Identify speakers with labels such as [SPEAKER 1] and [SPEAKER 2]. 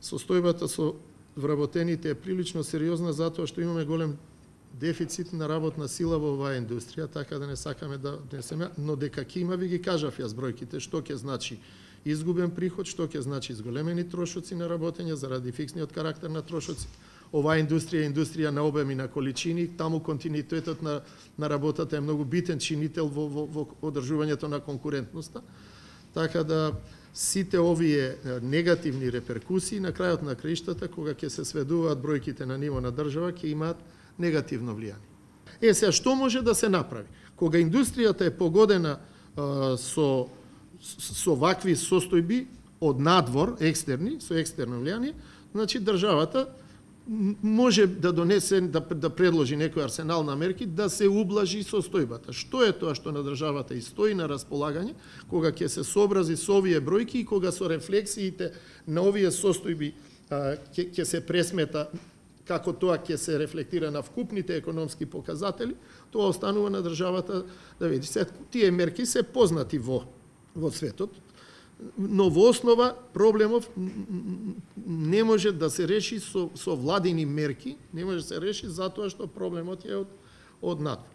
[SPEAKER 1] состојбата со вработените е прилично сериозна затоа што имаме голем дефицит на работна сила во оваа индустрија, така да не сакаме да внесеме, но дека ќе има, ви ги кажав јас бројките, што ќе значи изгубен приход, што ќе значи зголемени трошоци на работење заради фиксниот карактер на трошоци. Оваа индустрија е индустрија на обем и на количини, таму континуитетот на работата е многу битен чинител во одржувањето на конкурентноста. Така да сите овие негативни реперкусии на крајот на краиштата, кога ќе се сведуваат бројките на ниво на држава, ќе имаат негативно влијание. Сега, што може да се направи? Кога индустријата е погодена со вакви состојби од надвор, екстерни, со екстерно влијание, значи државата може да донесе, да предложи некој арсенал на мерки да се ублажи состојбата. Што е тоа што на државата и стои на располагање, кога ќе се сообрази со овие бројки и кога со рефлексиите на овие состојби ќе се пресмета како тоа ќе се рефлектира на вкупните економски показатели, тоа останува на државата да види. Тие мерки се познати во светот, но во основа проблемов не може да се реши со владини мерки, не може да се реши затоа што проблемот е од надвор.